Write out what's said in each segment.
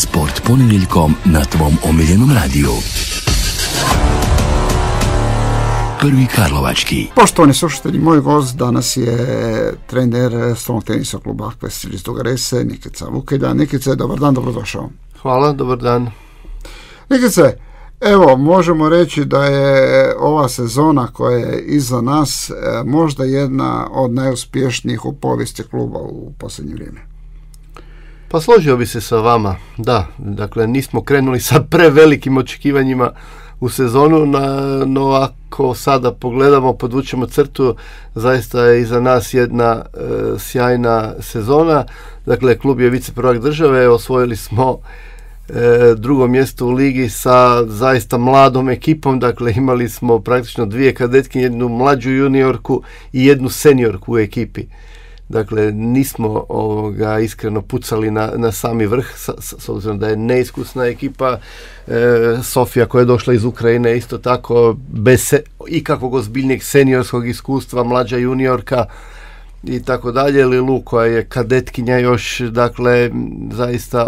Sport ponedjeljkom na tvom omiljenom radiju. Prvi Karlovački. Poštovani slušatelji, moj gost danas je trener stolnog tenisa kluba Akvestil iz Duge Rese, Nikica Vukelja. Nikice, dobar dan, dobrodošao. Hvala, dobar dan. Nikice, evo, možemo reći da je ova sezona koja je iza nas možda jedna od najuspješnijih u povijesti kluba u posljednje vrijeme. Pa složio bi se sa vama, da. Dakle, nismo krenuli sa prevelikim očekivanjima u sezonu, no ako sada pogledamo, podvučemo crtu, zaista je iza nas jedna sjajna sezona. Dakle, klub je viceprvak države, osvojili smo drugo mjesto u ligi sa zaista mladom ekipom, dakle imali smo praktično 2 kadetkinje, jednu mlađu juniorku i jednu seniorku u ekipi. Dakle, nismo iskreno pucali na sami vrh, s obzirom da je neiskusna ekipa. Sofija koja je došla iz Ukrajine isto tako, bez ikakvog ozbiljnijeg seniorskog iskustva, mlađa juniorka i tako dalje. Lilu koja je kadetkinja još, dakle, zaista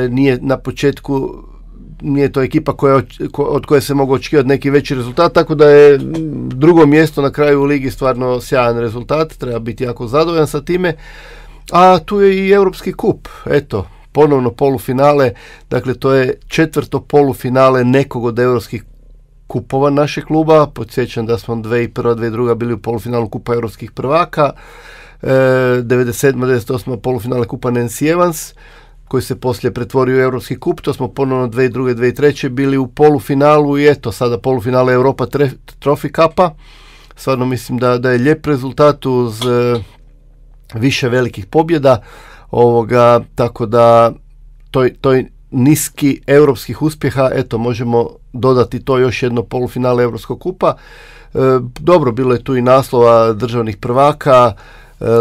nije na početku, nije to ekipa od koje se mogu očekivati neki veći rezultat, tako da je drugo mjesto na kraju u ligi stvarno sjajan rezultat, treba biti jako zadovoljan sa time. A tu je i Europski kup, eto, ponovno polufinale, dakle to je 4. polufinale nekog od europskih kupova našeg kluba. Podsjećam da smo 2001. 2002. bili u polufinalu kupa europskih prvaka, 97. 98. polufinale kupa Nancy Evans, koji se poslije pretvorio u Europski kup. To smo ponovno 2002. 2003. bili u polufinalu i eto, sada polufinale Europa Trophy Cupa. Stvarno mislim da je lijep rezultat uz više velikih pobjeda, tako da toj niski europskih uspjeha, eto, možemo dodati to još jedno polufinale Europskog kupa. Dobro, bilo je tu i naslova državnih prvaka.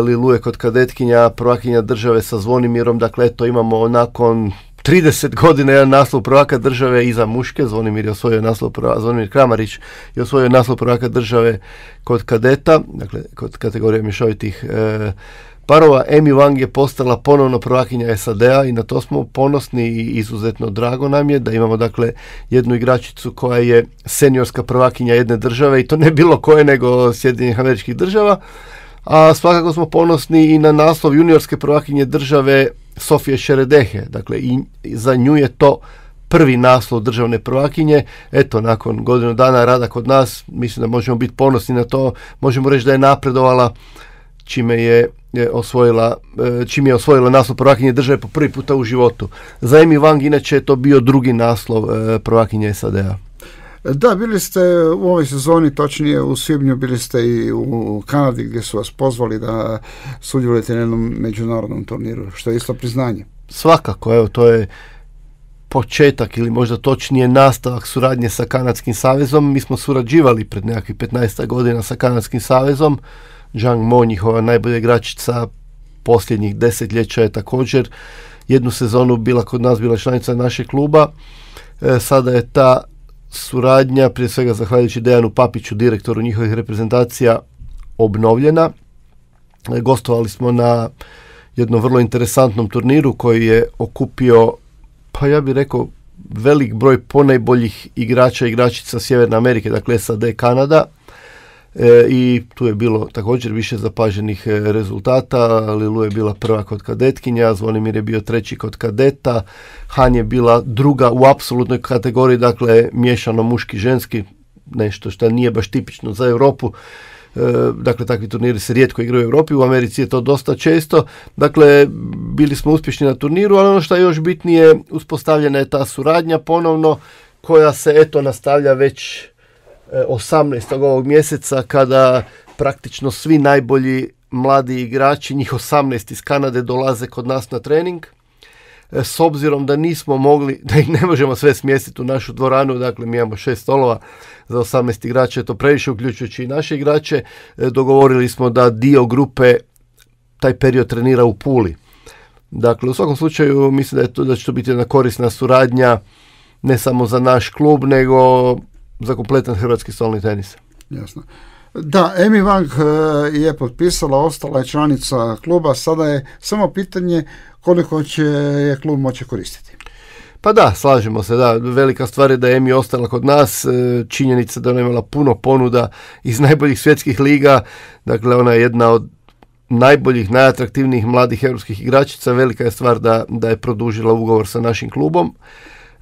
Lilu je kod kadetkinja prvakinja države sa Zvonimirom, dakle eto, imamo nakon 30 godina jedan naslov prvaka države iza muške. Zvonimir je osvojio naslov prvaka, Zvonimir Kramarić je osvojio naslov prvaka države kod kadeta, dakle kod kategorije mješovitih parova. Amy Wang je postala ponovno prvakinja SAD-a i na to smo ponosni i izuzetno drago nam je da imamo, dakle, jednu igračicu koja je seniorska prvakinja jedne države, i to ne bilo koje nego Sjedinjenih Američkih Država. A svakako smo ponosni i na naslov juniorske prvakinje države Sofije Šeredehe. Dakle, i za nju je to prvi naslov državne prvakinje. Eto, nakon godinu dana rada kod nas, mislim da možemo biti ponosni na to. Možemo reći da je napredovala čime je osvojila naslov prvakinje države po prvi puta u životu. Za Amy Wang inače je to bio drugi naslov prvakinje SAD-a. Da, bili ste u ovoj sezoni, točnije u svibnju, bili ste i u Kanadi gdje su vas pozvali da sudjelujete na jednom međunarodnom turniru, što je isto priznanje. Svakako, evo, to je početak ili možda točnije nastavak suradnje sa Kanadskim savezom. Mi smo surađivali pred nekakvih 15 godina sa Kanadskim savezom. Zhang Mo, njihova najbolja igračica posljednjih desetljeća, je također jednu sezonu bila kod nas, bila članica našeg kluba. Sada je ta suradnja, prije svega zahvaljujući Dejanu Papiću, direktoru njihovih reprezentacija, obnovljena. Gostovali smo na jednom vrlo interesantnom turniru koji je okupio, pa ja bih rekao, velik broj ponajboljih igrača i igračica Sjeverne Amerike, dakle SAD, Kanada. I tu je bilo također više zapaženih rezultata. Lilu je bila prva kod kadetkinja, Zvonimir je bio treći kod kadeta, Han je bila druga u apsolutnoj kategoriji, dakle miješano muški-ženski, nešto što nije baš tipično za Europu. Dakle, takvi turniri se rijetko igraju u Europi, u Americi je to dosta često. Dakle, bili smo uspješni na turniru, ali ono što je još bitnije, uspostavljena je ta suradnja ponovno, koja se eto nastavlja već 18. ovog mjeseca, kada praktično svi najbolji mladi igrači, njih 18 iz Kanade, dolaze kod nas na trening. S obzirom da nismo mogli, da ih ne možemo sve smjestiti u našu dvoranu, dakle mi imamo 6 stolova za 18 igrača, je to previše, uključujući i naše igrače, dogovorili smo da dio grupe taj period trenira u Puli. Dakle, u svakom slučaju mislim da će to biti jedna korisna suradnja, ne samo za naš klub, nego za kompletan hrvatski stolni tenis. Jasno. Da, Emi Wang je potpisala, ostala je članica kluba, sada je samo pitanje koliko će je klub moći koristiti. Pa da, slažemo se, da, velika stvar je da je Emi ostala kod nas, činjenica da ona imala puno ponuda iz najboljih svjetskih liga, dakle ona je jedna od najboljih, najatraktivnijih mladih europskih igračica, velika je stvar da je produžila ugovor sa našim klubom.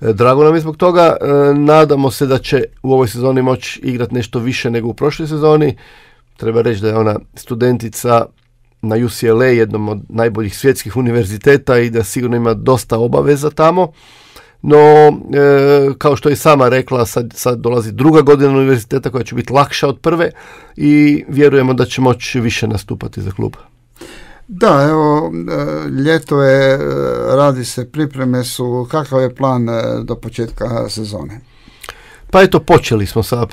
Drago nam je zbog toga, nadamo se da će u ovoj sezoni moći igrati nešto više nego u prošloj sezoni. Treba reći da je ona studentica na UCLA, jednom od najboljih svjetskih univerziteta i da sigurno ima dosta obaveza tamo. No, kao što je sama rekla, sad dolazi druga godina univerziteta koja će biti lakša od prve i vjerujemo da će moći više nastupati za klub. Da, evo, ljeto je, radi se, pripreme su, kakav je plan do početka sezone? Pa eto, počeli smo sada,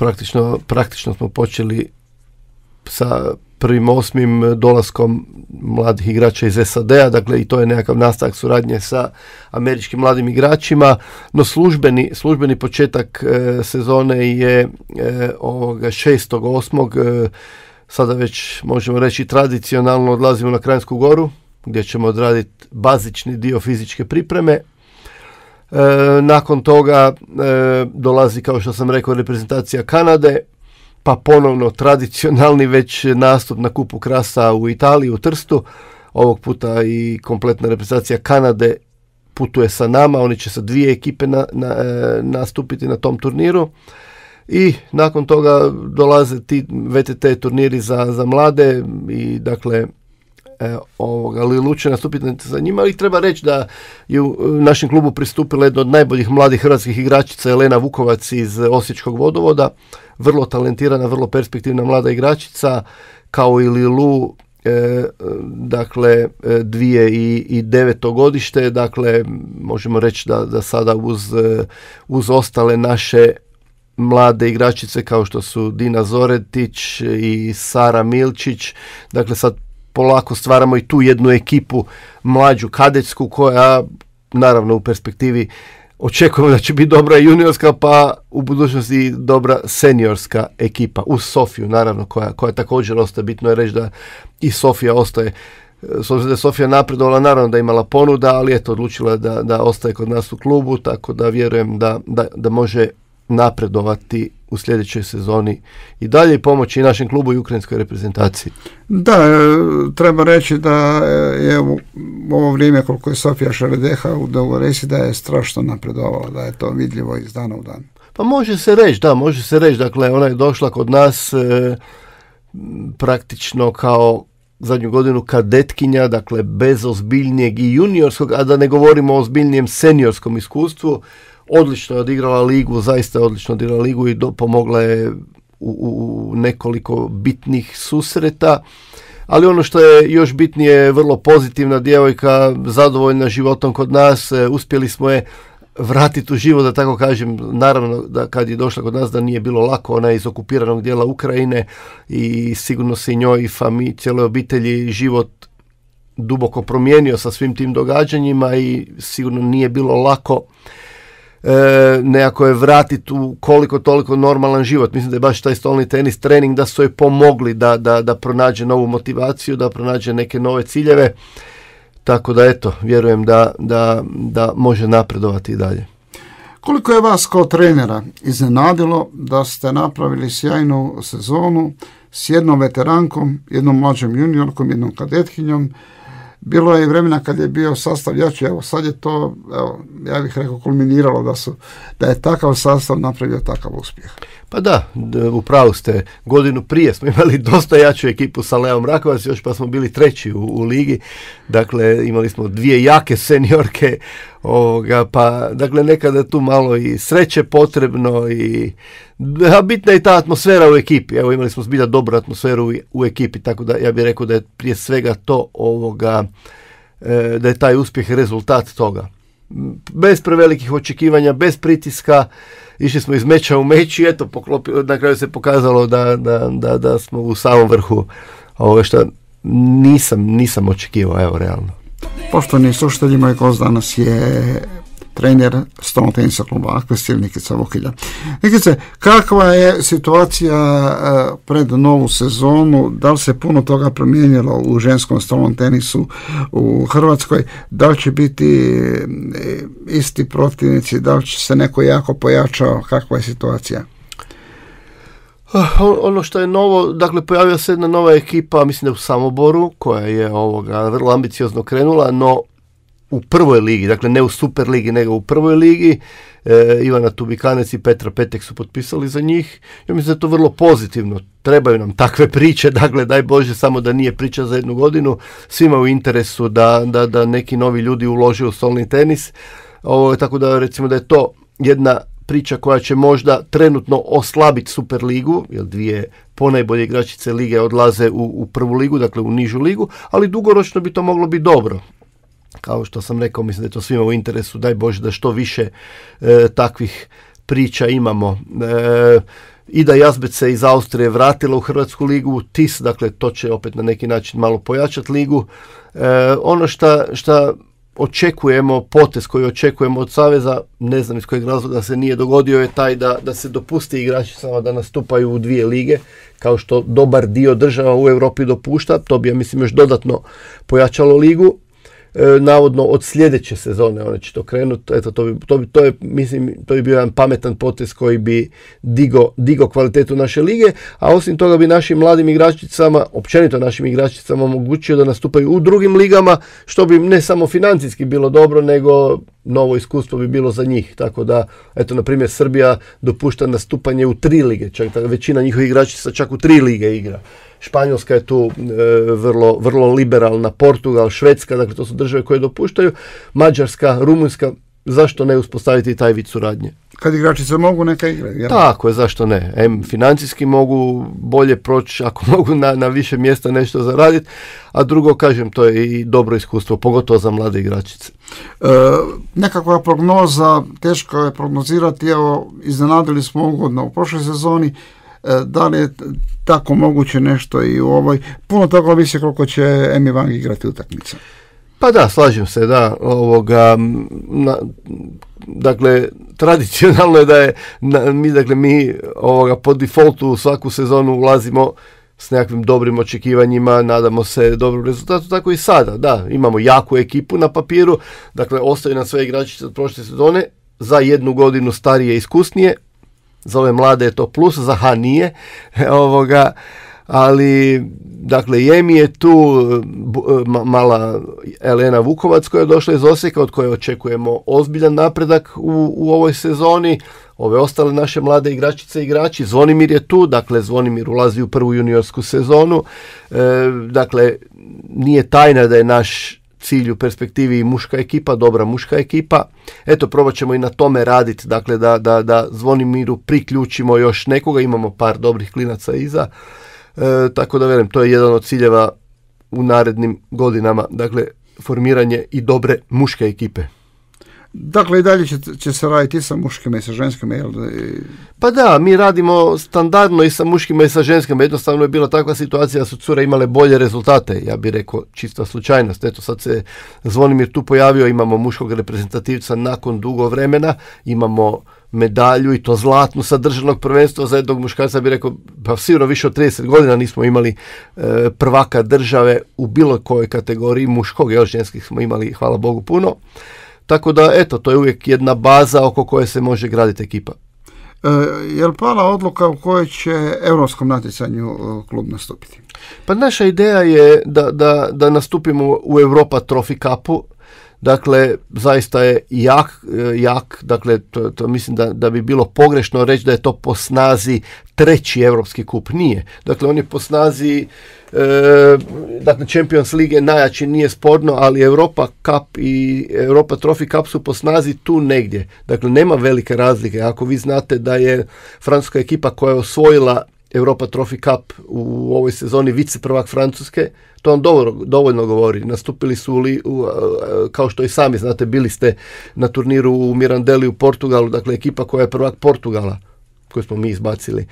praktično smo počeli sa 1.8. dolaskom mladih igrača iz SAD-a, dakle i to je nekakav nastavak suradnje sa američkim mladim igračima, no službeni početak sezone je 6.8. Sada već možemo reći tradicionalno odlazimo na Kranjsku Goru gdje ćemo odraditi bazični dio fizičke pripreme. Nakon toga dolazi, kao što sam rekao, reprezentacija Kanade, pa ponovno tradicionalni već nastup na Kupu Krasa u Italiji, u Trstu. Ovog puta i kompletna reprezentacija Kanade putuje sa nama, oni će sa 2 ekipe nastupiti na tom turniru. I nakon toga dolaze ti VTT turniri za mlade i dakle Lilu će nastupiti za njima, ali treba reći da je u našem klubu pristupila jedna od najboljih mladih hrvatskih igračica Elena Vukovac iz Osječkog Vodovoda, vrlo talentirana, vrlo perspektivna mlada igračica, kao i Lilu, dakle 2009. godište, dakle možemo reći da sada uz ostale naše mlade igračice kao što su Dina Zoretić i Sara Milčić, dakle sad polako stvaramo i tu jednu ekipu mlađu kadetsku koja naravno u perspektivi očekujemo da će biti dobra juniorska, pa u budućnosti dobra seniorska ekipa uz Sofiju naravno koja također ostaje. Bitno je reći da i Sofija ostaje, s obzirom da je Sofija napredovala, naravno da je imala ponuda, ali eto odlučila je da ostaje kod nas u klubu, tako da vjerujem da može napredovati u sljedećoj sezoni i dalje pomoći našem klubu i ukrajinskoj reprezentaciji. Da, treba reći da je u ovo vrijeme koliko je Sofija Šeredeha u Dogoresi da je strašno napredovala, da je to vidljivo iz dana u dan. Pa može se reći, dakle ona je došla kod nas praktično kao zadnju godinu kadetkinja, dakle bez ozbiljnijeg i juniorskog, a da ne govorimo o ozbiljnijem seniorskom iskustvu. Odlično je odigrala ligu, zaista je odlično odigrala ligu i pomogla je u nekoliko bitnih susreta, ali ono što je još bitnije, vrlo pozitivna djevojka, zadovoljna životom kod nas, uspjeli smo je vratiti u život, da tako kažem. Naravno da kad je došla kod nas da nije bilo lako, ona je iz okupiranog dijela Ukrajine i sigurno se i njoj i cijeloj obitelji život duboko promijenio sa svim tim događanjima i sigurno nije bilo lako nekako je vratiti u koliko toliko normalan život. Mislim da je baš taj stolni tenis trening da su joj pomogli da pronađe novu motivaciju, da pronađe neke nove ciljeve, tako da eto, vjerujem da može napredovati i dalje. Koliko je vas kao trenera iznenadilo da ste napravili sjajnu sezonu s jednom veterankom, jednom mlađom juniorkom, jednom kadetkinjom? Bilo je i vremena kad je bio sastav jači, evo sad je to, ja bih rekao, kulminiralo da je takav sastav napravio takav uspjeh. Pa da, upravo ste, godinu prije smo imali dosta jaču ekipu sa Leom Rakovac, još pa smo bili 3. u ligi, dakle imali smo 2 jake seniorke, pa dakle nekada tu malo i sreće potrebno a bitna je ta atmosfera u ekipi. Evo imali smo zbilja dobru atmosferu u ekipi, tako da ja bih rekao da je prije svega to da je taj uspjeh rezultat toga. Bez prevelikih očekivanja, bez pritiska, išli smo iz meča u meč i eto, na kraju se pokazalo da smo u samom vrhu ovoga što nisam očekivao, evo realno. Poštovani slušatelji, moj gost danas je trener stolnog tenisa kluba Akvestil Nikica Vukilja. Nikice, kakva je situacija pred novu sezonu? Da li se puno toga promijenilo u ženskom stolnom tenisu u Hrvatskoj? Da li će biti isti protivnici? Da li će se neko jako pojačao? Kakva je situacija? Ono što je novo, dakle pojavila se jedna nova ekipa, mislim da u Samoboru, koja je vrlo ambiciozno krenula, no u prvoj ligi, dakle ne u Super ligi, nego u prvoj ligi. Ivana Tubikanec i Petra Petek su potpisali za njih. Ja mislim da je to vrlo pozitivno. Trebaju nam takve priče, dakle daj Bože samo da nije priča za jednu godinu. Svima u interesu da neki novi ljudi ulože u stolni tenis. Tako da recimo da je to jedna priča koja će možda trenutno oslabiti Super ligu, jer dvije ponajbolje igračice lige odlaze u prvu ligu, dakle u nižu ligu, ali dugoročno bi to moglo biti dobro. Kao što sam rekao, mislim da je to svima u interesu, daj Bože da što više takvih priča imamo. Ida Jazbec se iz Austrije vratila u Hrvatsku ligu, TIS, dakle to će opet na neki način malo pojačati ligu. Ono šta očekujemo, potez koji očekujemo od Saveza, ne znam iz kojeg razloga se nije dogodio, je taj da se dopusti igračicama da nastupaju u dvije lige, kao što dobar dio država u Europi dopušta. To bi, ja mislim, još dodatno pojačalo ligu. Navodno od sljedeće sezone one će to krenuti. Eto, to bi bio jedan pametan potez koji bi digo kvalitetu naše lige, a osim toga bi našim mladim igračicama, općenito našim igračicama, omogućio da nastupaju u drugim ligama, što bi ne samo financijski bilo dobro, nego novo iskustvo bi bilo za njih. Tako da, eto, na primjer, Srbija dopušta nastupanje u 3 lige, čak većina njihovih igračica čak u 3 lige igra. Španjolska je tu vrlo liberalna, Portugal, Švedska, dakle to su države koje dopuštaju, Mađarska, Rumunjska, zašto ne uspostaviti taj vid suradnje? Kad igračice mogu, neka igraju. Tako je, zašto ne? Financijski mogu bolje proći, ako mogu na više mjesta nešto zaraditi, a drugo, kažem, to je i dobro iskustvo, pogotovo za mlade igračice. Nekakva prognoza, teško je prognozirati, evo, iznenadili smo ugodno u prošloj sezoni. Da li je tako moguće nešto i u ovoj? Puno toga ovisi koliko će Emi Wang igrati utakmice. Pa da, slažem se, da. Dakle, tradicionalno je da je mi po defaultu u svaku sezonu ulazimo s nekakvim dobrim očekivanjima, nadamo se dobrom rezultatu, tako i sada. Da, imamo jaku ekipu na papiru, dakle, ostaju nam sve igračice od prošle sezone, za jednu godinu starije i iskusnije. Za ove mlade je to plus, za H nije, ali dakle Jemi je tu, mala Elena Vukovac koja je došla iz Osijeka, od koje očekujemo ozbiljan napredak u ovoj sezoni. Ove ostale naše mlade igračice i igrači, Zvonimir je tu, dakle Zvonimir ulazi u prvu juniorsku sezonu, dakle nije tajna da je naš cilj u perspektivi muška ekipa, dobra muška ekipa. Eto, probat ćemo i na tome raditi, dakle da Zvonimiru priključimo još nekoga, imamo par dobrih klinaca iza, tako da velim, to je jedan od ciljeva u narednim godinama, dakle formiranje i dobre muške ekipe. Dakle, i dalje će se raditi i sa muškima i sa ženskima, jel? Pa da, mi radimo standardno i sa muškima i sa ženskima. Jednostavno je bila takva situacija da su cure imale bolje rezultate. Ja bih rekao čista slučajnost. Eto, sad se Zvonimir tu pojavio, imamo muškog reprezentativca nakon dugo vremena, imamo medalju i to zlatnu sa državnog prvenstva za jednog muškarca, bih rekao, pa sigurno više od 30 godina nismo imali prvaka države u bilo kojoj kategoriji muškog, jer ženskih smo imali, hvala Bogu, puno. Tako da, eto, to je uvijek jedna baza oko koje se može graditi ekipa. Je li pala odluka u kojoj će europskom natjecanju klub nastupiti? Pa naša ideja je da nastupimo u Europa Trophy Cupu. Dakle, zaista je jak, dakle, to mislim da bi bilo pogrešno reći da je to po snazi treći europski kup. Nije. Dakle, on je po snazi, dakle, Champions League najjači, nije sporno, ali Europa Cup i Europa Trophy Cup su po snazi tu negdje. Dakle, nema velike razlike. Ako vi znate da je francuska ekipa koja je osvojila Europa Trophy Cup u ovoj sezoni viceprvak Francuske, to vam dovoljno govori. Nastupili su, kao što i sami znate, bili ste na turniru u Mirandeli u Portugalu, dakle ekipa koja je prvak Portugala, koju smo mi izbacili.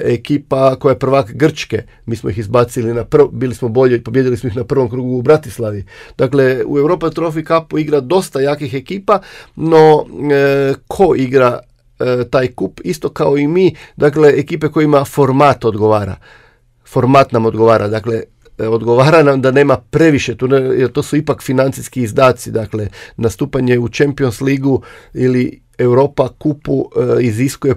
Ekipa koja je prvak Grčke, mi smo ih izbacili bili smo bolji, pobjedili smo ih na prvom krugu u Bratislavi. Dakle, u Europa Trophy Cupu igra dosta jakih ekipa, no ko igra taj kup, isto kao i mi, dakle, ekipe kojima format odgovara. Format nam odgovara, dakle, odgovara nam da nema previše, jer to su ipak financijski izdaci, dakle, nastupanje u Champions Ligu ili Europa kupu iziskuje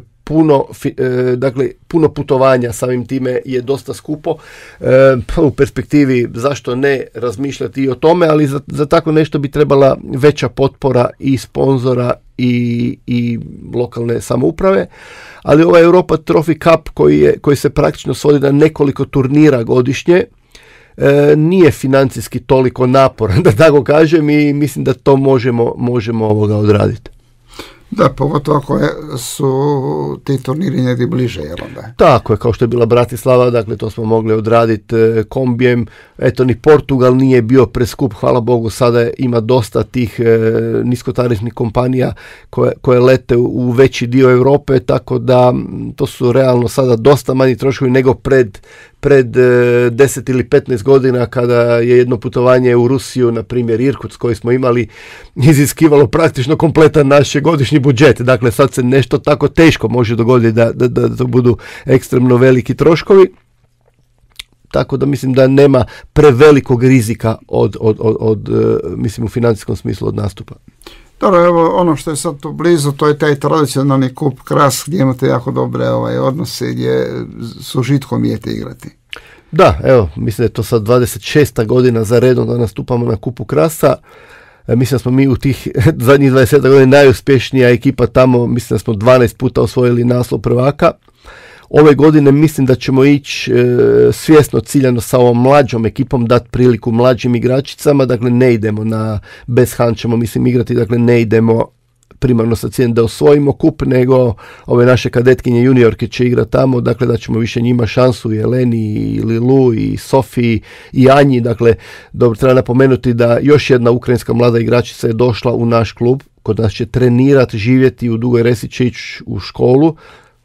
puno putovanja, samim time je dosta skupo. U perspektivi zašto ne razmišljati i o tome, ali za tako nešto bi trebala veća potpora i sponzora i lokalne samouprave. Ali ovaj Europa Trophy Cup koji se praktično svodi na nekoliko turnira godišnje, nije financijski toliko naporan, da tako kažem, i mislim da to možemo odraditi. Da, pogotovo ako su ti turniri negdje bliže, jel onda? Tako je, kao što je bila Bratislava, dakle to smo mogli odraditi kombijem. Eto, ni Portugal nije bio preskup, hvala Bogu, sada ima dosta tih niskotarifnih kompanija koje lete u veći dio Europe, tako da to su realno sada dosta manji troškovi nego pred 10 ili 15 godina kada je jedno putovanje u Rusiju, na primjer Irkutsk koji smo imali, iziskivalo praktično kompletan naš godišnji budžet. Dakle, sad se nešto tako teško može dogoditi da to budu ekstremno veliki troškovi. Tako da mislim da nema prevelikog rizika od mislim u financijskom smislu od nastupa. Dobro, evo ono što je sad tu blizu, to je taj tradicionalni kup Kras gdje imate jako dobre odnose, gdje s užitkom idete igrati. Da, evo, mislim da je to sad 26. godina za redom da nastupamo na kupu Krasa. Mislim da smo mi u tih zadnjih 20 godina najuspješnija ekipa tamo, mislim da smo 12 puta osvojili naslov prvaka. Ove godine mislim da ćemo ići svjesno ciljano sa ovom mlađom ekipom, dati priliku mlađim igračicama, dakle ne idemo bez Han ćemo mislim igrati, dakle ne idemo primarno sa ciljem da osvojimo kup, nego ove naše kadetkinje juniorke će igrati tamo, dakle da ćemo više njima šansu, i Eleni, i Lilu, i Sofiji, i Anji. Dakle, dobro, treba napomenuti da još jedna ukrajinska mlada igračica je došla u naš klub, kod nas će trenirati, živjeti u Dugoj Resi, će ići u školu.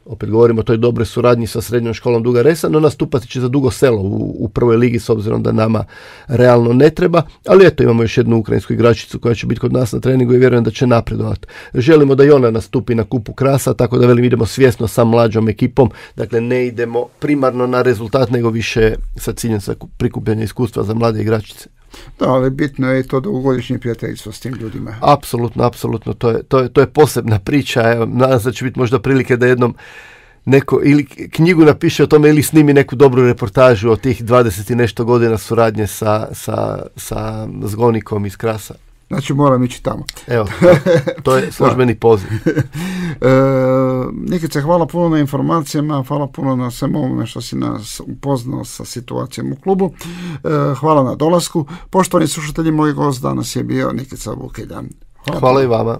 Opet govorimo o toj dobroj suradnji sa srednjom školom Duga Resa, no nastupati će za Dugo Selo u prvoj ligi, s obzirom da nama realno ne treba, ali eto, imamo još jednu ukrajinsku igračicu koja će biti kod nas na treningu i vjerujem da će napredovati. Želimo da i ona nastupi na kupu Krasa, tako da velim, idemo svjesno sa mlađom ekipom, dakle ne idemo primarno na rezultat, nego više sa ciljem sa prikupljanja iskustva za mlade igračice. Da, ali bitno je i to dugogodišnje prijateljstvo s tim ljudima. Apsolutno, to je posebna priča. Evo, nadam se da će biti možda prilike da jednom neko ili knjigu napiše o tome ili snimi neku dobru reportažu o tih 20 i nešto godina suradnje sa Zgonikom iz Krasa. Znači moram ići tamo. Evo, to je službeni poziv. Nikice, hvala puno na informacijama, hvala puno na svemu ovome što si nas upoznao sa situacijom u klubu. Hvala na dolasku. Poštovani slušatelji, moj gost danas je bio Nikica Vukeljan. Hvala i vama.